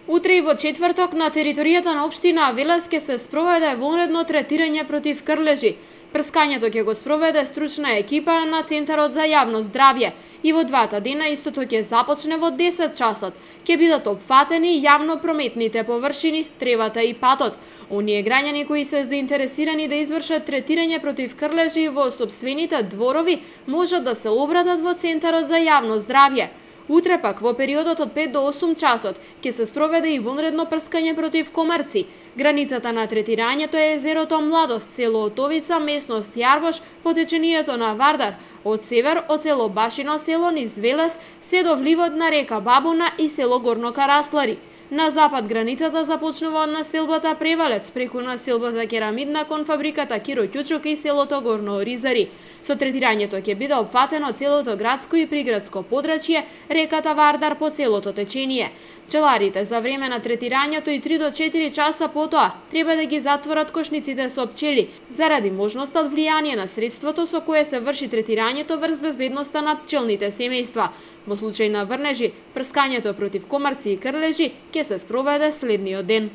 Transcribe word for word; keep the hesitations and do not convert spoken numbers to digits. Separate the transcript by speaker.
Speaker 1: Утре и во четврток на територијата на општина Велес ќе се спроведе вонредно третирање против крлежи. Прскањето ќе го спроведе стручна екипа на Центарот за јавно здравје и во двата дена истото ќе започне во десет часот. Ќе бидат опфатени јавно прометните површини, тревата и патот. Оние граѓани кои се заинтересирани да извршат третирање против крлежи во сопствените дворови можат да се обратат во Центарот за јавно здравје. Утре пак во периодот од пет до осум часот ќе се спроведе и вонредно прскање против комарци. Границата на третирањето е езерото Младост, село Отовица, местност Јарбош, по течението на Вардар, од север од село Башино село низ Велес, се до вливот на река Бабуна и село Горно Караслари. На запад границата започнува од населбата Превалец, преку населбата Керамидна кон фабриката Киро Ќучук и селото Горно Оризари. Со третирањето ќе биде опфатено целото градско и приградско подрачје, реката Вардар по целото течение. Пчеларите за време на третирањето и три до четири часа потоа треба да ги затворат кошниците со пчели, заради можноста од влијание на средството со кое се врши третирањето врз безбедноста на пчелните семејства. Во случај на врнежи, прскањето против комарци и крлежи ќе се спроведе следниот ден.